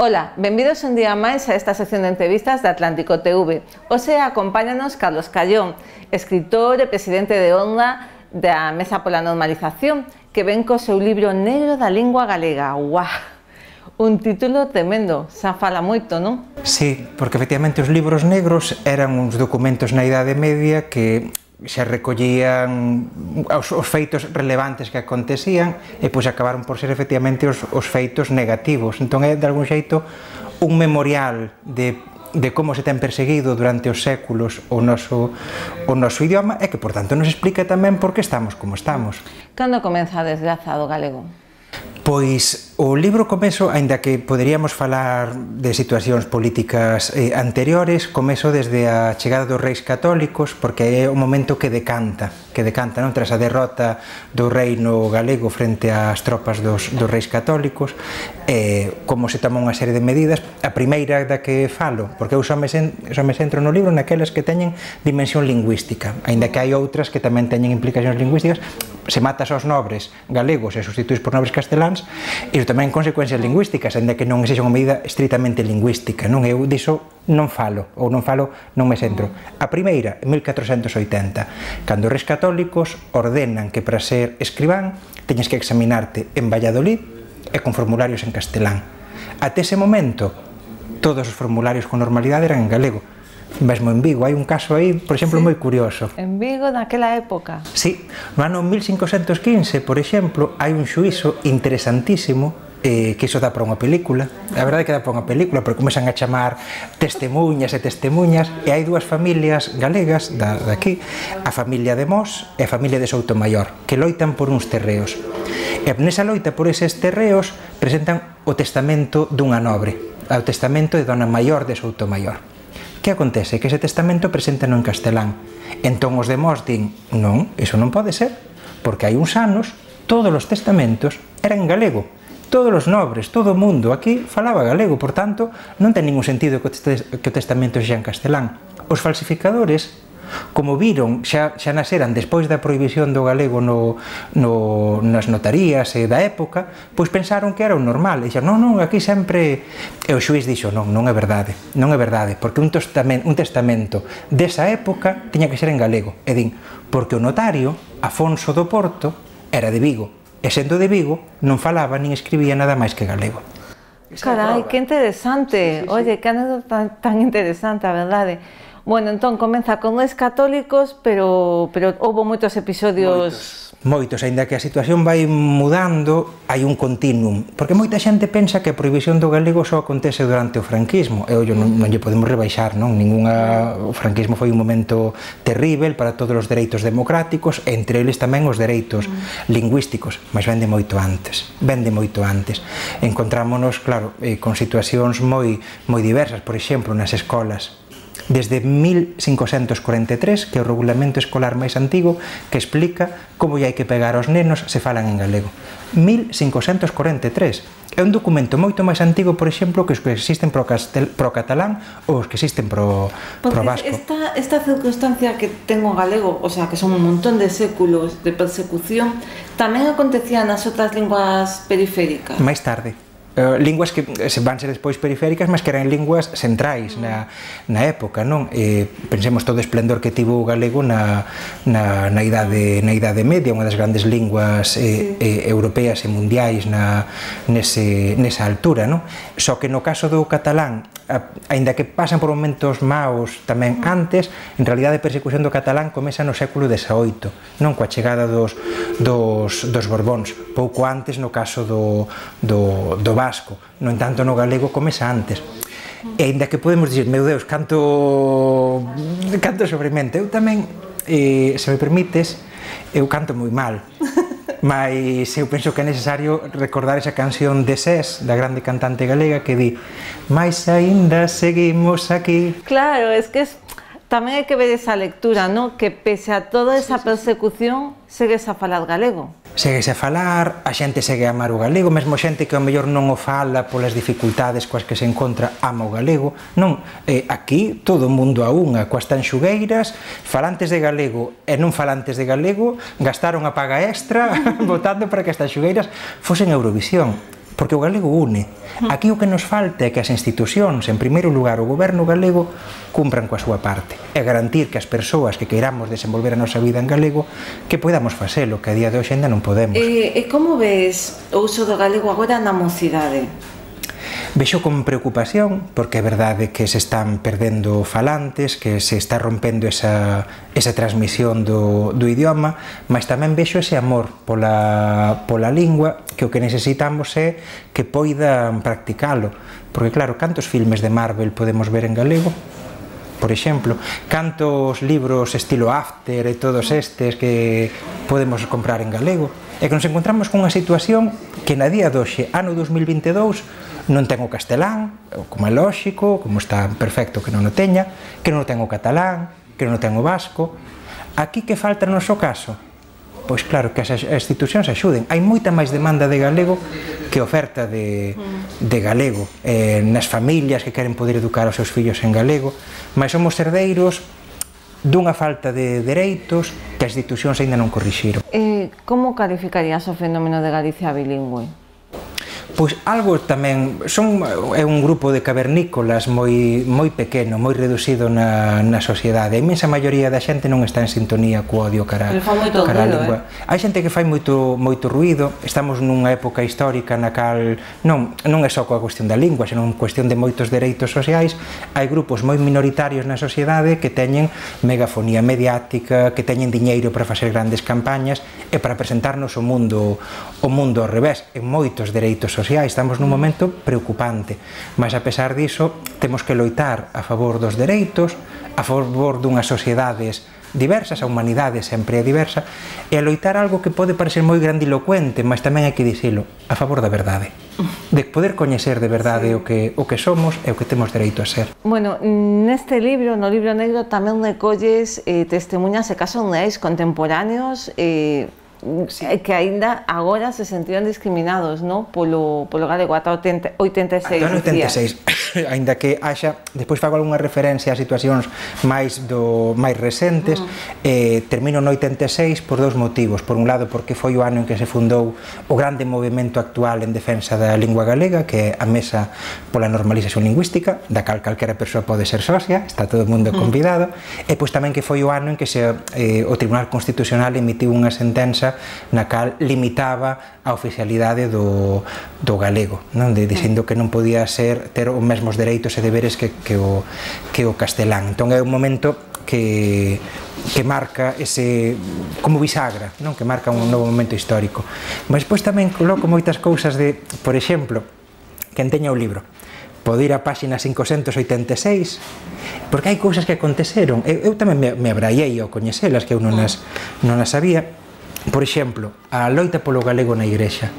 Ola, benvidos un día máis a esta sección de entrevistas de Atlántico TV. Hoxe acompáñanos Carlos Callón, escritor e presidente de Onda da Mesa pola Normalización, que ven co seu libro Negro da Lingua Galega. Uau! Un título tremendo, xa fala moito, non? Sí, porque efectivamente os libros negros eran uns documentos na Idade Media que xa recollían os feitos relevantes que acontecían e pois acabaron por ser efectivamente os feitos negativos. Entón é de algún xeito un memorial de como se ten perseguido durante os séculos o noso idioma e que, por tanto, nos explica tamén por que estamos como estamos. Cando comeza a desgraza do galego? Pois o libro comezo, aínda que poderíamos falar de situacións políticas anteriores, comezo desde a chegada dos reis católicos, porque é o momento que decanta, non? Tras a derrota do reino galego frente ás tropas dos reis católicos, como se toma unha serie de medidas. A primeira da que falo, porque eu só me centro no libro naquelas que teñen dimensión lingüística, aínda que hai outras que tamén teñen implicacións lingüísticas. Se matas aos nobres galegos e sustituís por nobres casteláns, iso tamén consecuencias lingüísticas, ainda que non sexa unha medida estritamente lingüística, non? Eu diso non falo, non me centro. A primeira, en 1480, cando os reis católicos ordenan que para ser escribán teñes que examinarte en Valladolid e con formularios en castelán. Até ese momento, todos os formularios con normalidade eran en galego. Mesmo en Vigo, hai un caso aí, por exemplo, moi curioso. En Vigo, naquela época? Sí, no ano 1515, por exemplo, hai un xuízo interesantísimo que iso dá para unha película. A verdade é que dá para unha película, porque comezan a chamar testemunhas, e hai dúas familias galegas daqui, a familia de Mos e a familia de Soutomaior, que loitan por uns terreos. E nesa loita por eses terreos presentan o testamento dunha nobre, o testamento de Dona Maior de Soutomaior. Que acontece? Que ese testamento preséntano en castelán. Entón os demós din, non, iso non pode ser, porque hai uns anos todos os testamentos eran en galego. Todos os nobres, todo o mundo aquí falaba galego, por tanto, non ten ningún sentido que o testamento sexa en castelán. Os falsificadores, como viron, xa naceran despois da prohibición do galego nas notarías e da época, pois pensaron que era o normal, e dixeron, non, aquí sempre... E o xuiz dixo, non é verdade, porque un testamento desa época tiña que ser en galego, e din, porque o notario, Afonso do Porto, era de Vigo, e sendo de Vigo, non falaba nin escribía nada máis que galego. Carai, que interesante, oye, que anécdota tan interesante, a verdade. Bueno, entón, comeza con reis católicos, pero houve moitos episodios... Moitos, aínda que a situación vai mudando, hai un continuum, porque moita xente pensa que a prohibición do galego só acontece durante o franquismo, e ollo, non lle podemos rebaixar, non? O franquismo foi un momento terrível para todos os dereitos democráticos, entre eles tamén os dereitos lingüísticos, mas vende moito antes. Encontrámonos, claro, con situacións moi diversas, por exemplo, nas escolas. Desde 1543, que é o regulamento escolar máis antigo, que explica como hai que pegar aos nenos se falan en galego. 1543. É un documento moito máis antigo, por exemplo, que os que existen pro catalán ou os que existen pro vasco. Esta circunstancia que ten o galego, o sea, que son un montón de séculos de persecución, tamén acontecía nas outras linguas periféricas? Máis tarde. Linguas que van ser despois periféricas, mas que eran linguas centrais na época, non? Pensemos todo o esplendor que tivo o galego na Idade Media, unha das grandes linguas europeas e mundiais nesa altura, non? Só que no caso do catalán, aínda que pasan por momentos maos tamén antes, en realidade a persecución do catalán comeza no século XVIII, non? Coa chegada dos Borbóns, pouco antes no caso do vasco. No entanto, no galego comeza antes. E aínda que podemos dicir, meu Deus, canto sobremente, eu tamén, se me permites, eu canto moi mal, mas eu penso que é necesario recordar esa canción de Sés, da grande cantante galega, que di, mais aínda seguimos aquí. Claro, es que tamén hai que ver esa lectura, non? Que pese a toda esa persecución, segues a falar galego. Seguese a falar, a xente segue a amar o galego, mesmo xente que ao mellor non o fala polas dificultades coas que se encontra, ama o galego. Non, aquí todo o mundo a unha, coas tanxugueiras, falantes de galego e non falantes de galego, gastaron a paga extra votando para que as tanxugueiras fosen Eurovisión. porque o galego une. Aquí o que nos falta é que as institucións, en primeiro lugar o goberno galego, cumpran coa súa parte e garantir que as persoas que queiramos desenvolver a nosa vida en galego que podamos facelo, que a día de hoxe ainda non podemos. E como ves o uso do galego agora na mocidade? Vexo con preocupación, porque é verdade que se están perdendo falantes, que se está rompendo esa transmisión do idioma, mas tamén vexo ese amor pola lingua, que o que necesitamos é que poidan practicalo, porque claro, cantos filmes de Marvel podemos ver en galego? Por exemplo, cantos libros estilo After e todos estes que podemos comprar en galego, e que nos encontramos con unha situación que na día doxe, ano 2022, non ten o castelán, como é lóxico, como está perfecto que non o teña, que non o ten o catalán, que non o ten o vasco. Aquí que falta no noso caso? Pois claro, que as institucións axuden. Hai moita máis demanda de galego que oferta de galego nas familias que queren poder educar os seus fillos en galego, mas somos herdeiros dunha falta de dereitos que as institucións aínda non corrixiron. Como calificarías o fenómeno de Galicia bilingüe? Pois algo tamén, é un grupo de cavernícolas moi pequeno, moi reducido na sociedade. A inmensa maioría da xente non está en sintonía co odio cara a lingua. Hai xente que fai moito ruído, estamos nunha época histórica na cal non é só coa cuestión da lingua, senón cuestión de moitos dereitos sociais. Hai grupos moi minoritarios na sociedade que teñen megafonía mediática, que teñen diñeiro para facer grandes campañas e para presentarnos o mundo ao revés, en moitos dereitos sociais. Estamos nun momento preocupante, mas a pesar diso temos que loitar a favor dos dereitos, a favor dunhas sociedades diversas, a humanidade sempre é diversa, e a loitar algo que pode parecer moi grandilocuente, mas tamén hai que dicilo, a favor da verdade, de poder coñecer de verdade o que somos e o que temos dereito a ser. Bueno, neste libro, no libro negro, tamén recolles testemunhas e casos reais contemporáneos que aínda agora se sentiron discriminados, non? Polo galego ata 86. Ata 86, aínda que haxa, despois fago algunha referencia a situacións máis recentes, termino no 86 por dous motivos. Por un lado, porque foi o ano en que se fundou o grande movimento actual en defensa da lingua galega, que é a Mesa pola Normalización Lingüística, da cal calquera persoa pode ser socia, está todo o mundo convidado, e pois tamén que foi o ano en que o Tribunal Constitucional emitiu unha sentenza na cal limitaba a oficialidade do galego, dicindo que non podía ter os mesmos dereitos e deberes que o castelán. Entón é un momento que marca ese, como bisagra, que marca un novo momento histórico. Mas despois tamén coloco moitas cousas de, por exemplo, quen teña o libro, pode ir a páxina 586, porque hai cousas que aconteceron. Eu tamén me abraiei ao coñecelas, que eu non as sabía. Por exemplo, a loita polo galego na Igrexa.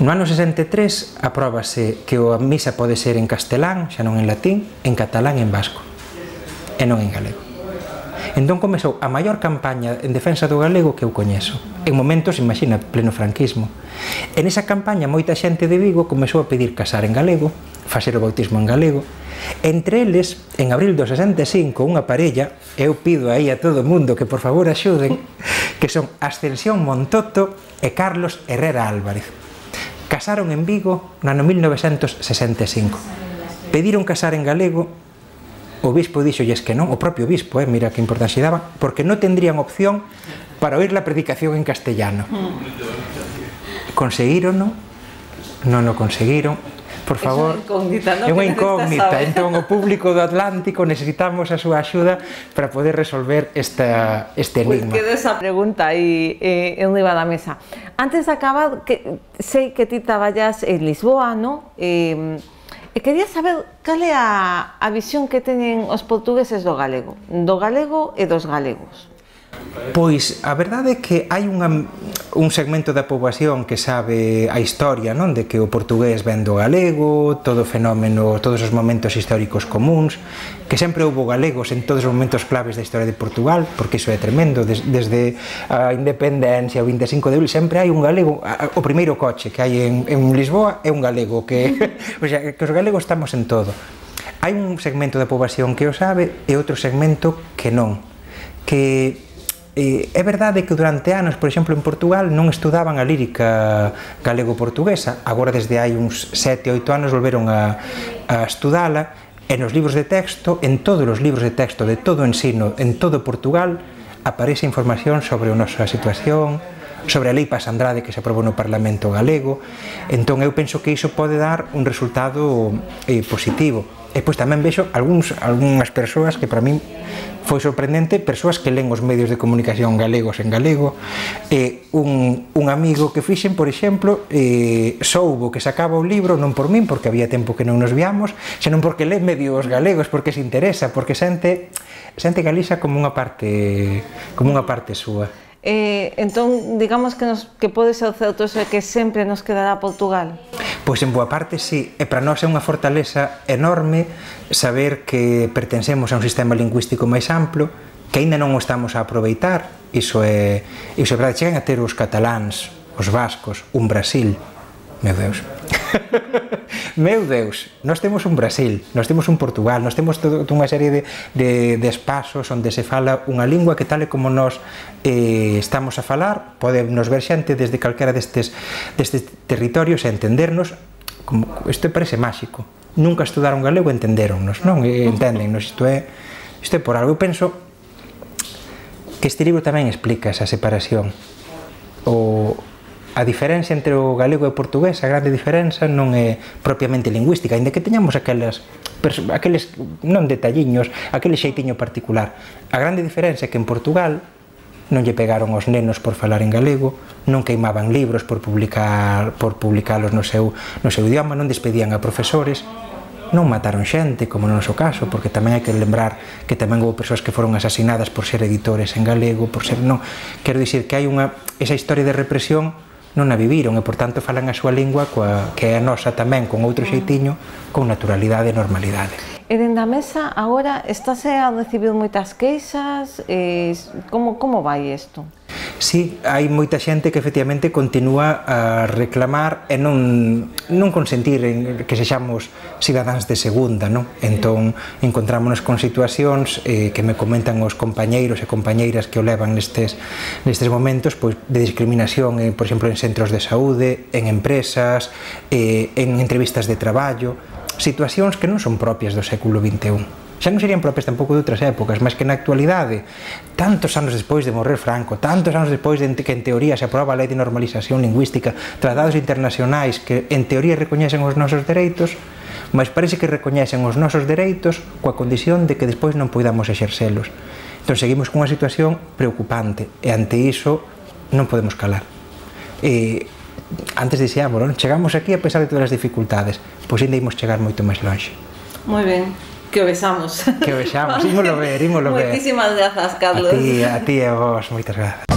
No ano 63 apróbase que a misa pode ser en castelán, xa non en latín, en catalán e en vasco, e non en galego. Entón comezou a maior campaña en defensa do galego que eu coñezo. En momentos, imagina, pleno franquismo. En esa campaña moita xente de Vigo comezou a pedir casar en galego, facer o bautismo en galego. Entre eles, en abril do 65, unha parella, eu pido aí a todo o mundo que por favor axuden, que son Ascensión Montoto e Carlos Herrera Álvarez. Casaron en Vigo no ano 1965. Pediron casar en galego, o bispo dixolles que non, o propio bispo, mira que importancia daba, porque non tendrían opción para oír la predicación en castellano. Conseguírono? Non o conseguiron. Por favor, é unha incógnita. Entón, o público do Atlántico necesitamos a súa axuda para poder resolver este enigma. Pois queda esa pregunta aí enriba da mesa. Antes de acabar, sei que ti traballas en Lisboa, non? E quería saber cal é a visión que teñen os portugueses do galego e dos galegos. Pois a verdade é que hai un segmento da poboación que sabe a historia, non? De que o portugués ven do galego, todo o fenómeno, todos os momentos históricos comuns, que sempre houbo galegos en todos os momentos claves da historia de Portugal, porque iso é tremendo, desde a independencia, o 25 de abril, sempre hai un galego. O primeiro coche que hai en Lisboa é un galego, o sea, que os galegos estamos en todo. Hai un segmento da poboación que o sabe e outro segmento que non, que é verdade que durante anos, por exemplo, en Portugal non estudaban a lírica galego-portuguesa, agora desde hai uns 7 ou 8 anos volveron a estudala, e nos libros de texto, en todos os libros de texto de todo o ensino, en todo Portugal, aparece información sobre a nosa situación, sobre a lei Paz Andrade que se aprobou no Parlamento galego. Entón eu penso que iso pode dar un resultado positivo. E pois tamén vexo algunhas persoas que para min foi sorprendente, persoas que len os medios de comunicación galegos en galego. Un amigo que fixen, por exemplo, soubo que sacaba o libro non por min, porque había tempo que non nos viamos, senón porque lee medios galegos, porque se interesa, porque sente Galiza como unha parte súa. Entón, digamos que pode ser o certo é que sempre nos quedará Portugal? Pois en boa parte sí, e para nós é unha fortaleza enorme saber que pertencemos a un sistema lingüístico máis amplo, que aínda non o estamos a aproveitar. Iso é verdade, chegan a ter os cataláns, os vascos, un Brasil, meu Deus. Meu Deus, nós temos un Brasil, nós temos un Portugal, nós temos toda unha serie de espazos onde se fala unha lingua que tal e como nós estamos a falar, podemos ver xente desde calquera destes territorios e entendernos. Isto parece máxico, nunca estudaron galego e entenderonnos, non? Enténdennos, isto é por algo. Eu penso que este libro tamén explica esa separación, a diferencia entre o galego e o portugués. A grande diferenza non é propiamente lingüística, ainda que teñamos aqueles non detalliños, aquele xeitiño particular. A grande diferenza é que en Portugal non lle pegaron aos nenos por falar en galego, non queimaban libros por publicalos no seu idioma, non despedían a profesores, non mataron xente, como no noso caso, porque tamén hai que lembrar que tamén houve persoas que foron asasinadas por ser editores en galego, quero dicir que hai esa historia de represión non a viviron e, por tanto, falan a súa lingua que é a nosa tamén, con outro xeitiño, con naturalidade e normalidade. E dende a mesa, agora, estáse a recibir moitas queixas? Como vai isto? Sí, hai moita xente que efectivamente continúa a reclamar e non consentir que sexamos cidadáns de segunda, non? Entón, encontrámonos con situacións que me comentan os compañeiros e compañeiras que o levan nestes momentos, pois, de discriminación, por exemplo, en centros de saúde, en empresas, en entrevistas de traballo, situacións que non son propias do século XXI. Xa non serían propias tampouco de outras épocas, mas que na actualidade, tantos anos despois de morrer Franco, tantos anos despois de que en teoría se aproba a Lei de Normalización Lingüística, tratados internacionais que en teoría recoñecen os nosos dereitos, mas parece que recoñecen os nosos dereitos coa condición de que despois non poidamos exercelos. Entón seguimos cunha situación preocupante e ante iso non podemos calar. Antes dixíamos, non? Chegamos aquí a pesar de todas as dificultades, pois ainda imos chegar moito máis longe. Moi ben. Que o besamos. Que o besamos, ímolo ver. Moitísimas grazas, Carlos. A ti e a vos, moitas grazas.